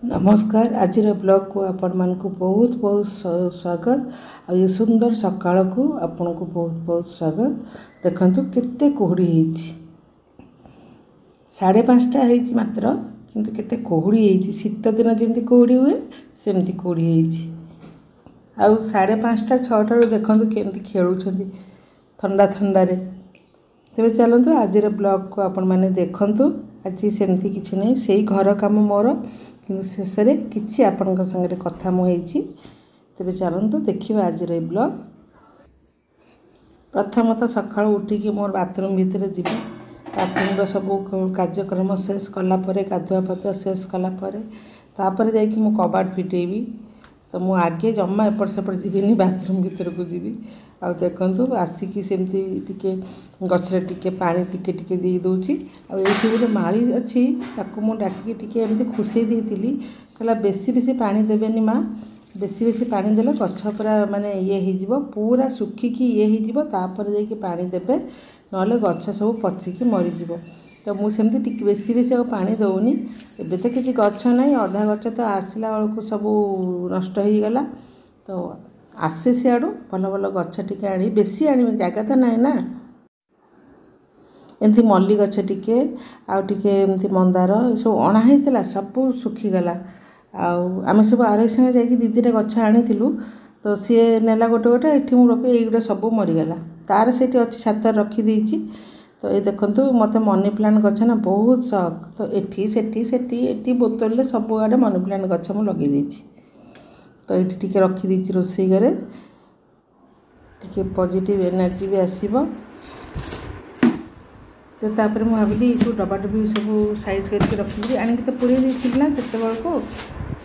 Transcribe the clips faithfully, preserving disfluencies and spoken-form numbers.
ନମସ୍କାର, ଆଜିର ବ୍ଲଗ୍କୁ ଆପଣମାନଙ୍କୁ ବହୁତ ବହୁତ ସ୍ୱାଗତ। ଆଉ ଏ ସୁନ୍ଦର ସକାଳକୁ ଆପଣଙ୍କୁ ବହୁତ ବହୁତ ସ୍ୱାଗତ। ଦେଖନ୍ତୁ କେତେ କୁହୁଡ଼ି ହେଇଛି। ସାଢ଼େ ପାଞ୍ଚଟା ହେଇଛି ମାତ୍ର, କିନ୍ତୁ କେତେ କୁହୁଡ଼ି ହେଇଛି। ଶୀତ ଦିନ ଯେମିତି କୁହୁଡ଼ି ହୁଏ ସେମିତି କୁହୁଡ଼ି ହେଇଛି। ଆଉ ସାଢ଼େ ପାଞ୍ଚଟା ଛଅଟାରୁ ଦେଖନ୍ତୁ କେମିତି ଖେଳୁଛନ୍ତି ଥଣ୍ଡା ଥଣ୍ଡାରେ। ତେବେ ଚାଲନ୍ତୁ ଆଜିର ବ୍ଲଗ୍କୁ ଆପଣମାନେ ଦେଖନ୍ତୁ। ଆଜି ସେମିତି କିଛି ନାହିଁ, ସେଇ ଘର କାମ ମୋର, କିନ୍ତୁ ଶେଷରେ କିଛି ଆପଣଙ୍କ ସାଙ୍ଗରେ କଥା ମୁଁ ହେଇଛି। ତେବେ ଚାଲନ୍ତୁ ଦେଖିବା ଆଜିର ଏଇ ବ୍ଲଗ୍। ପ୍ରଥମତଃ ସକାଳୁ ଉଠିକି ମୋର ବାଥରୁମ୍ ଭିତରେ ଯିବି। ବାଥରୁମ୍ର ସବୁ କାର୍ଯ୍ୟକ୍ରମ ଶେଷ କଲା ପରେ, ଗାଧୁଆ ପାଧୁଆ ଶେଷ କଲା ପରେ, ତାପରେ ଯାଇକି ମୁଁ କବାଟ ଫିଟେଇବି। ତ ମୁଁ ଆଗେ ଜମା ଏପଟ ସେପଟ ଯିବିନି, ବାଥରୁମ୍ ଭିତରକୁ ଯିବି। ଆଉ ଦେଖନ୍ତୁ ଆସିକି ସେମିତି ଟିକେ ଗଛରେ ଟିକେ ପାଣି ଟିକେ ଟିକେ ଦେଇ ଦେଉଛି। ଆଉ ଏଇଠି ଗୋଟେ ମାଳି ଅଛି, ତାକୁ ମୁଁ ଡାକିକି ଟିକେ ଏମିତି ଖୁସେଇ ଦେଇଥିଲି। କହିଲା ବେଶୀ ବେଶୀ ପାଣି ଦେବେନି ମା, ବେଶୀ ବେଶୀ ପାଣି ଦେଲେ ଗଛ ପୁରା ମାନେ ଇଏ ହେଇଯିବ, ପୁରା ଶୁଖିକି ଇଏ ହେଇଯିବ, ତାପରେ ଯାଇକି ପାଣି ଦେବେ, ନହେଲେ ଗଛ ସବୁ ପଚିକି ମରିଯିବ। ତ ମୁଁ ସେମିତି ଟିକେ ବେଶୀ ବେଶୀ ଆଉ ପାଣି ଦେଉନି। ଏବେ ତ କିଛି ଗଛ ନାହିଁ, ଅଧା ଗଛ ତ ଆସିଲା ବେଳକୁ ସବୁ ନଷ୍ଟ ହେଇଗଲା। ତ ଆସେ ସିଆଡ଼ୁ ଭଲ ଭଲ ଗଛ ଟିକେ ଆଣି, ବେଶୀ ଆଣିବି ଜାଗା ତ ନାହିଁ ନା। ଏମିତି ମଲ୍ଲି ଗଛ ଟିକେ, ଆଉ ଟିକେ ଏମିତି ମନ୍ଦାର, ଏସବୁ ଅଣା ହେଇଥିଲା, ସବୁ ଶୁଖିଗଲା। ଆଉ ଆମେ ସବୁ ଆରୋହୀ ସାଙ୍ଗେ ଯାଇକି ଦୁଇ ଦୁଇଟା ଗଛ ଆଣିଥିଲୁ। ତ ସିଏ ନେଲା ଗୋଟେ ଗୋଟେ, ଏଠି ମୁଁ ରଖି ଏଇଗୁଡ଼ା ସବୁ ମରିଗଲା। ତାର ସେଇଠି ଅଛି, ଛାତରେ ରଖିଦେଇଛି। ତ ଏ ଦେଖନ୍ତୁ, ମୋତେ ମନି ପ୍ଲାଣ୍ଟ ଗଛ ନା ବହୁତ ସଖ। ତ ଏଠି ସେଠି ସେଠି ଏଠି ବୋତଲରେ ସବୁଆଡ଼େ ମନି ପ୍ଲାଣ୍ଟ ଗଛ ମୁଁ ଲଗେଇ ଦେଇଛି। ତ ଏଇଠି ଟିକେ ରଖିଦେଇଛି ରୋଷେଇ ଘରେ, ଟିକେ ପଜିଟିଭ୍ ଏନର୍ଜି ବି ଆସିବ। ତ ତାପରେ ମୁଁ ଭାବିଲି ଏଇ ସବୁ ଡବା ଡବି ସବୁ ସାଇଜ୍ କରିକି ରଖିଦେବି, ଆଣିକି ତ ପୁରେଇ ଦେଇଥିଲି ନା ସେତେବେଳକୁ।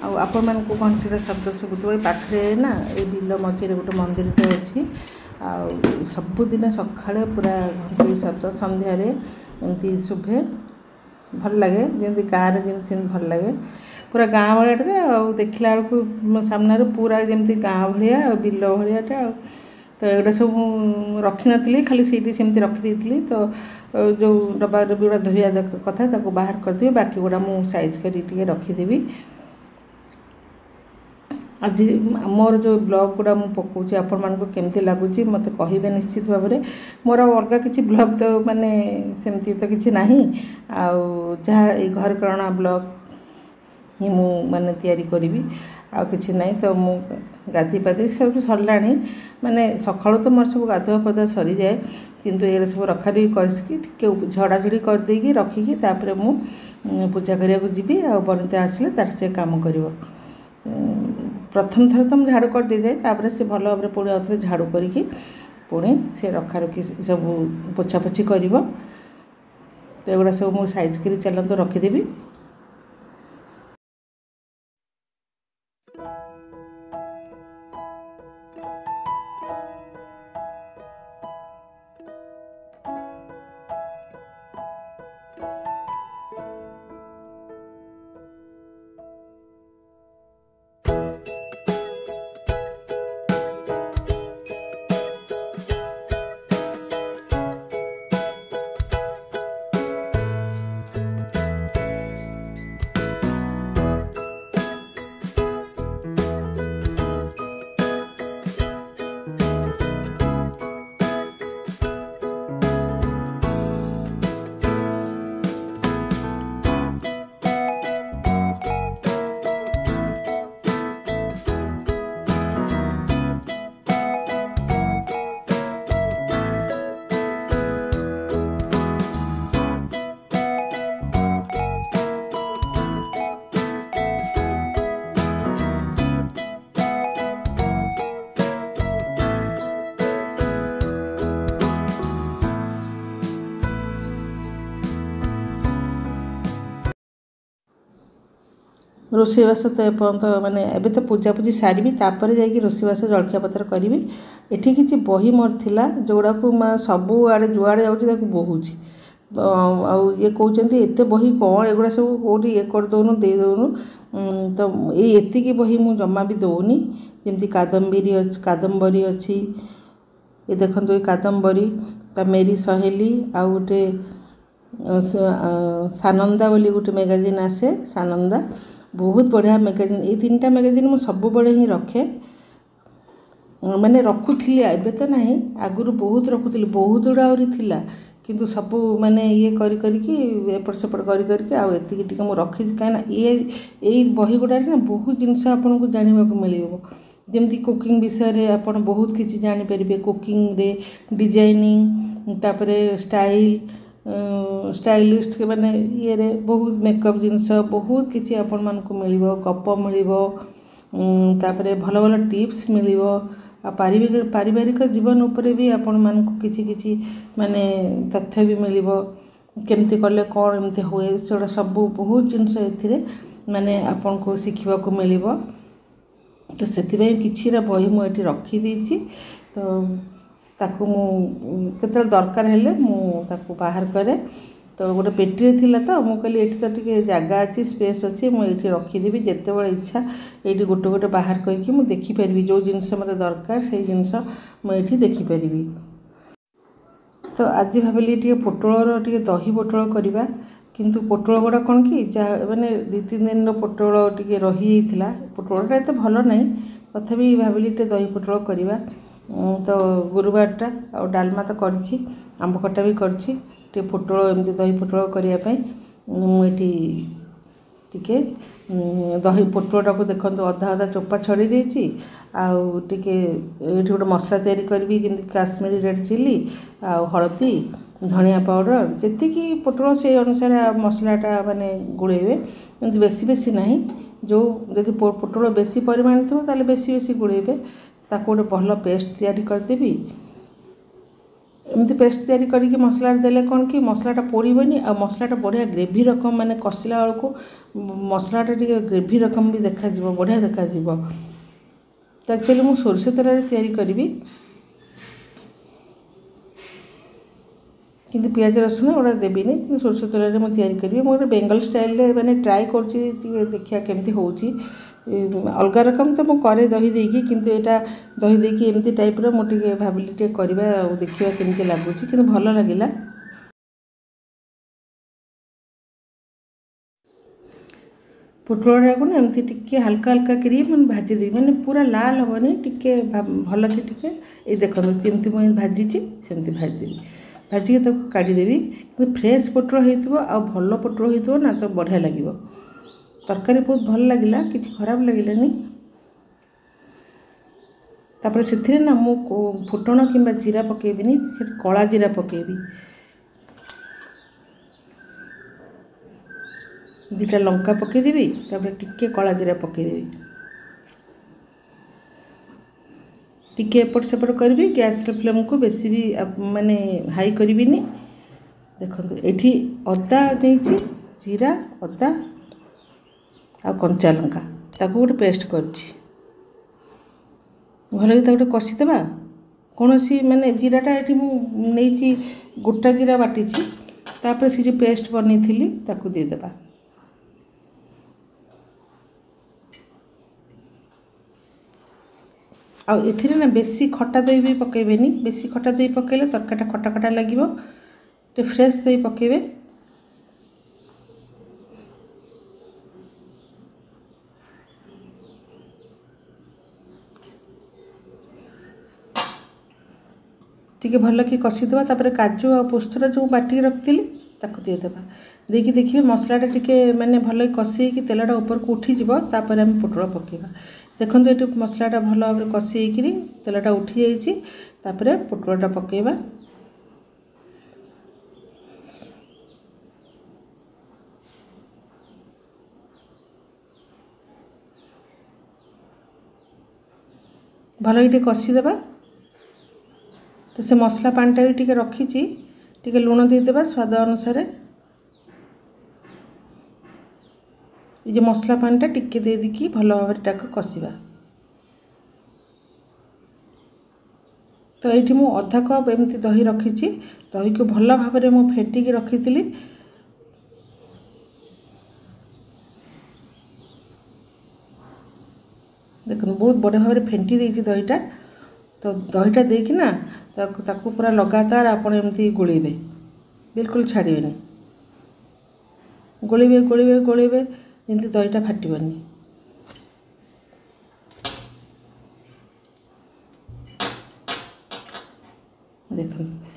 ଆଉ ଆପଣମାନଙ୍କୁ ଘଣ୍ଟିର ଶବ୍ଦ ଶୁଭୁଥିବ। ଏଇ ପାଖରେ ନା ଏଇ ବିଲ ମଝିରେ ଗୋଟେ ମନ୍ଦିରଟେ ଅଛି। ଆଉ ସବୁଦିନ ସକାଳେ ପୁରା ଘଣ୍ଟି ଶବ୍ଦ, ସନ୍ଧ୍ୟାରେ ଏମିତି ଶୁଭେ, ଭଲ ଲାଗେ। ଯେମିତି ଗାଁରେ ଯେମିତି ସେମିତି ଭଲ ଲାଗେ, ପୁରା ଗାଁ ଭଳିଆଟା। ଆଉ ଦେଖିଲା ବେଳକୁ ସାମ୍ନାରେ ପୁରା ଯେମିତି ଗାଁ ଭଳିଆ ଆଉ ବିଲ ଭଳିଆଟା। ଆଉ ତ ଏଗୁଡ଼ା ସବୁ ମୁଁ ରଖିନଥିଲି, ଖାଲି ସେଇଠି ସେମିତି ରଖିଦେଇଥିଲି। ତ ଯେଉଁ ଡବା ଡବି ଗୁଡ଼ା ଧୋଇବା କଥା ତାକୁ ବାହାର କରିଦେବି, ବାକି ଗୁଡ଼ା ମୁଁ ସାଇଜ୍ କରିକି ଟିକେ ରଖିଦେବି। ଆଜି ମୋର ଯେଉଁ ବ୍ଲଗ୍ ଗୁଡ଼ା ମୁଁ ପକାଉଛି ଆପଣମାନଙ୍କୁ କେମିତି ଲାଗୁଛି ମୋତେ କହିବେ ନିଶ୍ଚିତ ଭାବରେ। ମୋର ଅଲଗା କିଛି ବ୍ଲଗ୍ ତ ମାନେ ସେମିତି ତ କିଛି ନାହିଁ, ଆଉ ଯାହା ଏଇ ଘରକରଣା ବ୍ଲଗ୍ ହିଁ ମୁଁ ମାନେ ତିଆରି କରିବି, ଆଉ କିଛି ନାହିଁ। ତ ମୁଁ ଗାଧୋଇ ପାଧୋଇ ସବୁ ସରିଲାଣି, ମାନେ ସକାଳୁ ତ ମୋର ସବୁ ଗାଧୁଆ ପାଧୁଆ ସରିଯାଏ, କିନ୍ତୁ ଏଗୁଡ଼ା ସବୁ ରଖାରଖି କରିକି ଟିକେ ଝଡ଼ାଝଡ଼ି କରିଦେଇକି ରଖିକି ତାପରେ ମୁଁ ପୂଜା କରିବାକୁ ଯିବି। ଆଉ ବନିତା ଆସିଲେ ତାର ସେ କାମ କରିବ। ପ୍ରଥମ ଥର ତ ମୁଁ ଝାଡ଼ୁ କରିଦେଇଥାଏ, ତାପରେ ସେ ଭଲ ଭାବରେ ପୁଣି ଆଉଥରେ ଝାଡ଼ୁ କରିକି ପୁଣି ସେ ରଖାରଖି ସବୁ ପୋଛାପୋଛି କରିବ। ତ ଏଗୁଡ଼ା ସବୁ ମୁଁ ସାଇଜ୍ କରି ଚାଲନ୍ତୁ ରଖିଦେବି। ରୋଷେଇବାସ ତ ଏପର୍ଯ୍ୟନ୍ତ ମାନେ ଏବେ ତ ପୂଜାପୂଜି ସାରିବି, ତାପରେ ଯାଇକି ରୋଷେଇବାସ ଜଳଖିଆ ପତ୍ର କରିବି। ଏଠି କିଛି ବହି ମୋର ଥିଲା, ଯେଉଁଗୁଡ଼ାକୁ ସବୁଆଡ଼େ ଯୁଆଡ଼େ ଯାଉଛି ତାକୁ ବୋହୁଛି। ଆଉ ଇଏ କହୁଛନ୍ତି ଏତେ ବହି କ'ଣ, ଏଗୁଡ଼ା ସବୁ କେଉଁଠି ଇଏ କରିଦେଉନୁ, ଦେଇଦେଉନୁ। ତ ଏଇ ଏତିକି ବହି ମୁଁ ଜମା ବି ଦେଉନି। ଯେମିତି କାଦମ୍ବିରୀ ଅଛି, କାଦମ୍ବରୀ ଅଛି, ଏ ଦେଖନ୍ତୁ ଏ କାଦମ୍ବରୀ, ତା ମେରି ସହେଲି, ଆଉ ଗୋଟେ ସାନନ୍ଦା ବୋଲି ଗୋଟେ ମ୍ୟାଗାଜିନ୍ ଆସେ ସାନନ୍ଦା। ବହୁତ ବଢ଼ିଆ ମ୍ୟାଗାଜିନ୍। ଏଇ ତିନିଟା ମ୍ୟାଗାଜିନ୍ ମୁଁ ସବୁବେଳେ ହିଁ ରଖେ, ମାନେ ରଖୁଥିଲି, ଏବେ ତ ନାହିଁ, ଆଗରୁ ବହୁତ ରଖୁଥିଲି, ବହୁତ ଗୁଡ଼ା ଆହୁରି ଥିଲା, କିନ୍ତୁ ସବୁ ମାନେ ଇଏ କରି କରିକି ଏପଟ ସେପଟ କରି କରିକି ଆଉ ଏତିକି ଟିକେ ମୁଁ ରଖିଛି। କାହିଁକିନା ଇଏ ଏଇ ବହି ଗୁଡ଼ାରେ ନା ବହୁତ ଜିନିଷ ଆପଣଙ୍କୁ ଜାଣିବାକୁ ମିଳିବ। ଯେମିତି କୁକିଂ ବିଷୟରେ ଆପଣ ବହୁତ କିଛି ଜାଣିପାରିବେ, କୁକିଂରେ ଡିଜାଇନିଂ, ତାପରେ ଷ୍ଟାଇଲ୍, ଷ୍ଟାଇଲିଷ୍ଟ ମାନେ ଇଏରେ ବହୁତ ମେକଅପ୍ ଜିନିଷ ବହୁତ କିଛି ଆପଣମାନଙ୍କୁ ମିଳିବ, ଗପ ମିଳିବ, ତାପରେ ଭଲ ଭଲ ଟିପ୍ସ ମିଳିବ। ଆଉ ପାରିବାରିକ ପାରିବାରିକ ଜୀବନ ଉପରେ ବି ଆପଣମାନଙ୍କୁ କିଛି କିଛି ମାନେ ତଥ୍ୟ ବି ମିଳିବ, କେମିତି କଲେ କ'ଣ ଏମିତି ହୁଏ, ସେଗୁଡ଼ା ସବୁ ବହୁତ ଜିନିଷ ଏଥିରେ ମାନେ ଆପଣଙ୍କୁ ଶିଖିବାକୁ ମିଳିବ। ତ ସେଥିପାଇଁ କିଛିଟା ବହି ମୁଁ ଏଠି ରଖିଦେଇଛି। ତ ତାକୁ ମୁଁ କେତେବେଳେ ଦରକାର ହେଲେ ମୁଁ ତାକୁ ବାହାର କରେ। ତ ଗୋଟେ ପେଟିରେ ଥିଲା, ତ ମୁଁ କହିଲି ଏଇଠି ତ ଟିକେ ଜାଗା ଅଛି, ସ୍ପେସ୍ ଅଛି, ମୁଁ ଏଇଠି ରଖିଦେବି, ଯେତେବେଳେ ଇଚ୍ଛା ଏଇଠି ଗୋଟେ ଗୋଟେ ବାହାର କରିକି ମୁଁ ଦେଖିପାରିବି, ଯେଉଁ ଜିନିଷ ମୋତେ ଦରକାର ସେଇ ଜିନିଷ ମୁଁ ଏଇଠି ଦେଖିପାରିବି। ତ ଆଜି ଭାବିଲି ଟିକେ ପୋଟଳର ଟିକେ ଦହି ପୋଟଳ କରିବା, କିନ୍ତୁ ପୋଟଳ ଗୁଡ଼ା କ'ଣ କି ଯାହା ମାନେ ଦୁଇ ତିନି ଦିନର ପୋଟଳ ଟିକେ ରହିଯାଇଥିଲା, ପୋଟଳଟା ଏତେ ଭଲ ନାହିଁ, ତଥାପି ଭାବିଲି ଟିକେ ଦହି ପୋଟଳ କରିବା। ତ ଗୁରୁବାରଟା, ଆଉ ଡାଲମା ତ କରିଛି, ଆମ୍ବ ଖଟା ବି କରିଛି, ଟିକେ ପୋଟଳ ଏମିତି ଦହି ପୋଟଳ କରିବା ପାଇଁ ମୁଁ ଏଠି ଟିକେ ଦହି ପୋଟଳଟାକୁ ଦେଖନ୍ତୁ ଅଧା ଅଧା ଚୋପା ଛଡ଼େଇ ଦେଇଛି। ଆଉ ଟିକେ ଏଇଠି ଗୋଟେ ମସଲା ତିଆରି କରିବି, ଯେମିତି କାଶ୍ମୀରୀ ରେଡ଼୍ ଚିଲି ଆଉ ହଳଦୀ, ଧନିଆ ପାଉଡ଼ର, ଯେତିକି ପୋଟଳ ସେଇ ଅନୁସାରେ ମସଲାଟା ମାନେ ଗୋଳେଇବେ, ଏମିତି ବେଶୀ ବେଶୀ ନାହିଁ। ଯେଉଁ ଯଦି ପୋଟଳ ବେଶୀ ପରିମାଣ ଥିବ ତାହେଲେ ବେଶୀ ବେଶୀ ଗୋଳେଇବେ। ତାକୁ ଗୋଟେ ଭଲ ପେଷ୍ଟ ତିଆରି କରିଦେବି। ଏମିତି ପେଷ୍ଟ ତିଆରି କରିକି ମସଲାରେ ଦେଲେ କ'ଣ କି ମସଲାଟା ପୋଡ଼ିବନି, ଆଉ ମସଲାଟା ବଢ଼ିଆ ଗ୍ରେଭି ରକମ ମାନେ କଷିଲା ବେଳକୁ ମସଲାଟା ଟିକେ ଗ୍ରେଭି ରକମ ବି ଦେଖାଯିବ, ବଢ଼ିଆ ଦେଖାଯିବ। ତ ଆକ୍ଚୁଆଲି ମୁଁ ସୋରିଷ ତେଲରେ ତିଆରି କରିବି, କିନ୍ତୁ ପିଆଜ ରସୁଣ ଏଗୁଡ଼ା ଦେବିନି, କିନ୍ତୁ ସୋରିଷ ତେଲରେ ମୁଁ ତିଆରି କରିବି। ମୁଁ ଗୋଟେ ବେଙ୍ଗଲ ଷ୍ଟାଇଲରେ ମାନେ ଟ୍ରାଏ କରୁଛି, ଟିକେ ଦେଖିବା କେମିତି ହେଉଛି। ଅଲଗା ରକମ ତ ମୁଁ କରେ ଦହି ଦେଇକି, କିନ୍ତୁ ଏଇଟା ଦହି ଦେଇକି ଏମିତି ଟାଇପ୍ର ମୁଁ ଟିକେ ଭାବିଲି ଟିକେ କରିବା ଆଉ ଦେଖିବା କେମିତି ଲାଗୁଛି, କିନ୍ତୁ ଭଲ ଲାଗିଲା। ପୋଟଳଟାକୁ ନା ଏମିତି ଟିକେ ହାଲକା ହାଲକା କରି ମାନେ ଭାଜିଦେବି, ମାନେ ପୁରା ଲାଲ ହେବନି, ଟିକେ ଭଲକି ଟିକେ ଏଇ ଦେଖନ୍ତୁ ଯେମିତି ମୁଁ ଭାଜିଛି ସେମିତି ଭାଜିଦେବି, ଭାଜିକି ତାକୁ କାଢ଼ିଦେବି। କିନ୍ତୁ ଫ୍ରେଶ୍ ପୋଟଳ ହେଇଥିବ ଆଉ ଭଲ ପୋଟଳ ହେଇଥିବ ନା, ତ ବଢ଼ିଆ ଲାଗିବ ତରକାରୀ, ବହୁତ ଭଲ ଲାଗିଲା, କିଛି ଖରାପ ଲାଗିଲାନି। ତାପରେ ସେଥିରେ ନା ମୁଁ ଫୁଟଣ କିମ୍ବା ଜିରା ପକାଇବିନି, ସେଠି କଳା ଜିରା ପକାଇବି, ଦୁଇଟା ଲଙ୍କା ପକାଇଦେବି, ତାପରେ ଟିକେ କଳା ଜିରା ପକାଇଦେବି, ଟିକେ ଏପଟ ସେପଟ କରିବି। ଗ୍ୟାସ୍ର ଫ୍ଲେମ୍କୁ ବେଶୀ ବି ମାନେ ହାଇ କରିବିନି। ଦେଖନ୍ତୁ ଏଠି ଅଦା ନେଇଛି, ଜିରା, ଅଦା ଆଉ କଞ୍ଚା ଲଙ୍କା, ତାକୁ ଗୋଟେ ପେଷ୍ଟ କରିଛି, ଭଲକି ତାକୁ ଗୋଟେ କଷିଦେବା। କୌଣସି ମାନେ ଜିରାଟା ଏଠି ମୁଁ ନେଇଛି ଗୋଟା ଜିରା ବାଟିଛି, ତାପରେ ସେ ଯେଉଁ ପେଷ୍ଟ ବନେଇଥିଲି ତାକୁ ଦେଇଦେବା। ଆଉ ଏଥିରେ ନା ବେଶୀ ଖଟା ଦହି ବି ପକାଇବେନି, ବେଶୀ ଖଟା ଦହି ପକାଇଲେ ତରକାରୀଟା ଖଟା ଖଟା ଲାଗିବ, ଟିକେ ଫ୍ରେଶ୍ ଦହି ପକାଇବେ। ଟିକେ ଭଲକି କଷିଦେବା। ତାପରେ କାଜୁ ଆଉ ପୋସ୍ତଟା ଯେଉଁ ବାଟିକି ରଖିଥିଲି ତାକୁ ଦେଇଦେବା। ଦେଇକି ଦେଖିବେ ମସଲାଟା ଟିକେ ମାନେ ଭଲକି କଷି ହେଇକି ତେଲଟା ଉପରକୁ ଉଠିଯିବ, ତାପରେ ଆମେ ପୋଟଳ ପକାଇବା। ଦେଖନ୍ତୁ ଏଠି ମସଲାଟା ଭଲ ଭାବରେ କଷି ହେଇକିରି ତେଲଟା ଉଠିଯାଇଛି, ତାପରେ ପୋଟଳଟା ପକାଇବା। ଭଲକି ଟିକେ କଷିଦେବା। ତ ସେ ମସଲା ପାଣିଟା ବି ଟିକେ ରଖିଛି, ଟିକେ ଲୁଣ ଦେଇଦେବା ସ୍ୱାଦ ଅନୁସାରେ। ଏ ଯେଉଁ ମସଲା ପାଣିଟା ଟିକେ ଦେଇଦେଇକି ଭଲ ଭାବରେ ତାକୁ କଷିବା। ତ ଏଇଠି ମୁଁ ଅଧା କପ୍ ଏମିତି ଦହି ରଖିଛି, ଦହିକୁ ଭଲ ଭାବରେ ମୁଁ ଫେଣ୍ଟିକି ରଖିଥିଲି। ଦେଖନ୍ତୁ ବହୁତ ବଢ଼ିଆ ଭାବରେ ଫେଣ୍ଟି ଦେଇଛି ଦହିଟା। ତ ଦହିଟା ଦେଇକି ନା ତାକୁ ତାକୁ ପୁରା ଲଗାତାର ଆପଣ ଏମିତି ଗୋଳେଇବେ, ବିଲକୁଲ ଛାଡ଼ିବେନି, ଗୋଳେଇବେ ଗୋଳେଇବେ ଗୋଳେଇବେ। ଯେମିତି ଦହିଟା ଫାଟିବନି। ଦେଖନ୍ତୁ,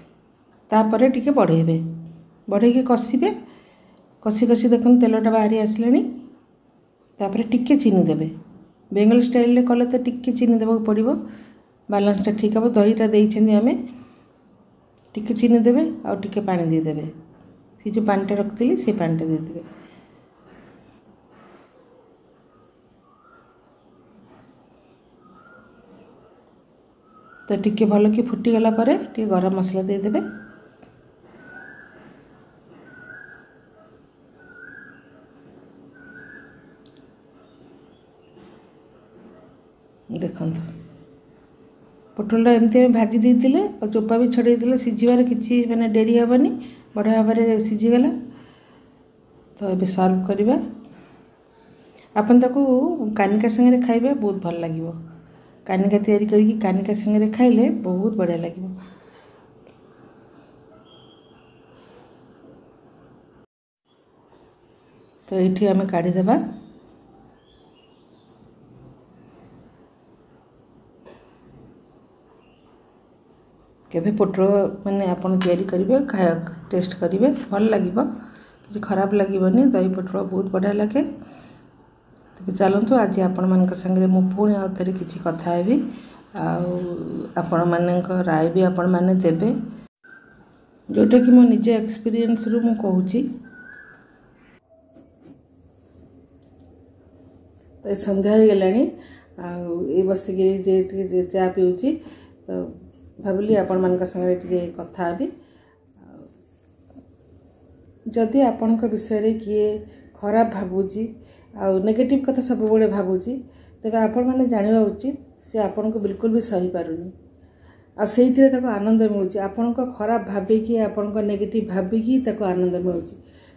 ତାପରେ ଟିକେ ବଢ଼େଇବେ, ବଢ଼େଇକି କଷିବେ। କଷି କଷି ଦେଖନ୍ତୁ ତେଲଟା ବାହାରି ଆସିଲାଣି। ତାପରେ ଟିକେ ଚିନି ଦେବେ। ବେଙ୍ଗଲ ଷ୍ଟାଇଲରେ କଲେ ତ ଟିକେ ଚିନି ଦେବାକୁ ପଡ଼ିବ, ବାଲାନ୍ସଟା ଠିକ୍ ହେବ। ଦହିଟା ଦେଇଛନ୍ତି ଆମେ, ଟିକେ ଚିନି ଦେବେ ଆଉ ଟିକେ ପାଣି ଦେଇଦେବେ। ସେ ଯେଉଁ ପାଣିଟା ରଖିଥିଲି ସେ ପାଣିଟା ଦେଇଦେବେ। ତ ଟିକେ ଭଲକି ଫୁଟିଗଲା ପରେ ଟିକେ ଗରମ ମସଲା ଦେଇଦେବେ। ଦେଖନ୍ତୁ, ପୋଟଳଟା ଏମିତି ଆମେ ଭାଜି ଦେଇଥିଲେ ଆଉ ଚୋପା ବି ଛଡ଼େଇଥିଲେ, ସିଝିବାରେ କିଛି ମାନେ ଡେରି ହେବନି, ବଢ଼ିଆ ଭାବରେ ସିଝିଗଲା। ତ ଏବେ ସର୍ଭ କରିବା। ଆପଣ ତାକୁ କାନିକା ସାଙ୍ଗରେ ଖାଇବେ, ବହୁତ ଭଲ ଲାଗିବ। କାନିକା ତିଆରି କରିକି କାନିକା ସାଙ୍ଗରେ ଖାଇଲେ ବହୁତ ବଢ଼ିଆ ଲାଗିବ। ତ ଏଇଠି ଆମେ କାଢ଼ିଦେବା। କେବେ ପୋଟଳ ମାନେ ଆପଣ ତିଆରି କରିବେ, ଖାଇବା ଟେଷ୍ଟ କରିବେ, ଭଲ ଲାଗିବ, କିଛି ଖରାପ ଲାଗିବନି। ଦହି ପୋଟଳ ବହୁତ ବଢ଼ିଆ ଲାଗେ। ତେବେ ଚାଲନ୍ତୁ, ଆଜି ଆପଣମାନଙ୍କ ସାଙ୍ଗରେ ମୁଁ ପୁଣି ଆଉ ଥରେ କିଛି କଥା ହେବି, ଆଉ ଆପଣମାନଙ୍କ ରାୟ ବି ଆପଣମାନେ ଦେବେ, ଯେଉଁଟାକି ମୋ ନିଜ ଏକ୍ସପିରିଏନ୍ସରୁ ମୁଁ କହୁଛି। ତ ସନ୍ଧ୍ୟା ହେଇଗଲାଣି, ଆଉ ଏଇ ବସିକିରି ଯେ ଟିକେ ଚା ପିଉଛି, ତ ଭାବିଲି ଆପଣମାନଙ୍କ ସାଙ୍ଗରେ ଟିକେ କଥା ହେବି। ଯଦି ଆପଣଙ୍କ ବିଷୟରେ କିଏ ଖରାପ ଭାବୁଛି ଆଉ ନେଗେଟିଭ୍ କଥା ସବୁବେଳେ ଭାବୁଛି, ତେବେ ଆପଣମାନେ ଜାଣିବା ଉଚିତ ସେ ଆପଣଙ୍କୁ ବିଲକୁଲ ବି ସହିପାରୁନି, ଆଉ ସେଇଥିରେ ତାକୁ ଆନନ୍ଦ ମିଳୁଛି। ଆପଣଙ୍କ ଖରାପ ଭାବିକି, ଆପଣଙ୍କ ନେଗେଟିଭ୍ ଭାବିକି ତାକୁ ଆନନ୍ଦ ମିଳୁଛି।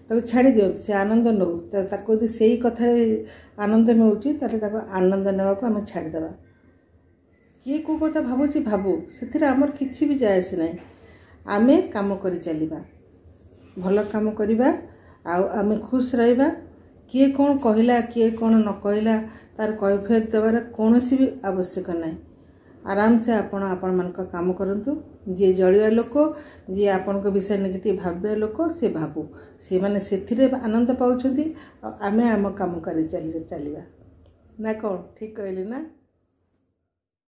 ତାକୁ ଛାଡ଼ି ଦିଅନ୍ତୁ, ସେ ଆନନ୍ଦ ନେଉ। ତାକୁ ଯଦି ସେଇ କଥାରେ ଆନନ୍ଦ ମିଳୁଛି, ତାହେଲେ ତାକୁ ଆନନ୍ଦ ନେବାକୁ ଆମେ ଛାଡ଼ିଦେବା। କିଏ କେଉଁ କଥା ଭାବୁଛି ଭାବୁ, ସେଥିରେ ଆମର କିଛି ବି ଯାଏ ଆସେ ନାହିଁ। ଆମେ କାମ କରି ଚାଲିବା, ଭଲ କାମ କରିବା, ଆଉ ଆମେ ଖୁସି ରହିବା। କିଏ କ'ଣ କହିଲା, କିଏ କ'ଣ ନ କହିଲା, ତାର କୈଫିୟତ ଦେବାର କୌଣସି ବି ଆବଶ୍ୟକ ନାହିଁ। ଆରାମସେ ଆପଣ ଆପଣମାନଙ୍କ କାମ କରନ୍ତୁ। ଯିଏ ଜଳିବା ଲୋକ, ଯିଏ ଆପଣଙ୍କ ବିଷୟରେ ନେଗେଟିଭ୍ ଭାବିବା ଲୋକ, ସେ ଭାବୁ, ସେମାନେ ସେଥିରେ ଆନନ୍ଦ ପାଉଛନ୍ତି, ଆଉ ଆମେ ଆମ କାମ କରି ଚାଲି ଚାଲିବା ନା କ'ଣ? ଠିକ୍ କହିଲି ନା?